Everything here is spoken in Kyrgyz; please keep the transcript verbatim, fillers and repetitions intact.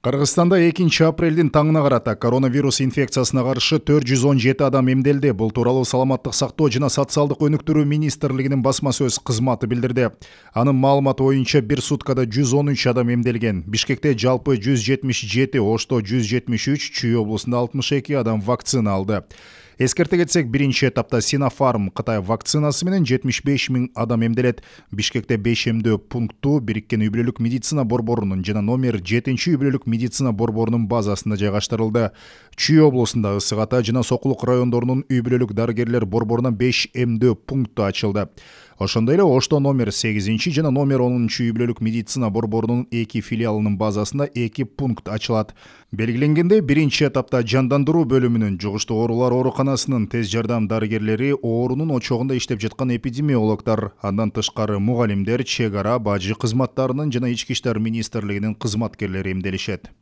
Кыргызстанда экинчи апрелдин таңына карата коронавирус инфекциясына каршы төрт жүз он жети адам эмделди. Бул тууралуу Саламаттык сактоо жана социалдык өнүктүрүү министрлигинин басма сөз кызматы билдирди. Анын маалыматы боюнча бир суткада жүз он үч адам эмделген. Бишкекте жалпы жүз жетимиш жети, Ошто жүз жетимиш үч, Чүй облусунда алтымыш эки адам вакцина алды. Эскерте кетсек, биринчи этапта Синофарм Кытай вакцинасы менен жетимиш беш миң адам эмделет. Бишкекте беш эмдөө пункту Бириккен үй бүлөлүк медицина борборунун жана номер жетинчи үй бүлөлүк медицина борборунун базасында жайгаштырылды. Чүй облусунда Ысык Ата жана Сокулук райондорунун үй бүлөлүк дарыгерлер борборуна беш эмдөө пункту ачылды. Ошондой эле Ошто номер сегизинчи жана номер онунчу үй бүлөлүк медицина борборунун эки филиалынын базасында эки пункт ачылат. Белгиленгендей, биринчи этапта жандандыруу бөлүмүнүн, жугуштуу оорулар ооруканасынын тез жардам дарыгерлери, оорунун очогунда иштеп жаткан эпидемиологдор, андан тышкары мугалимдер, чек ара, бажы кызматтарынын жана ички иштер министрлигинин кызматкерлери эмделишет.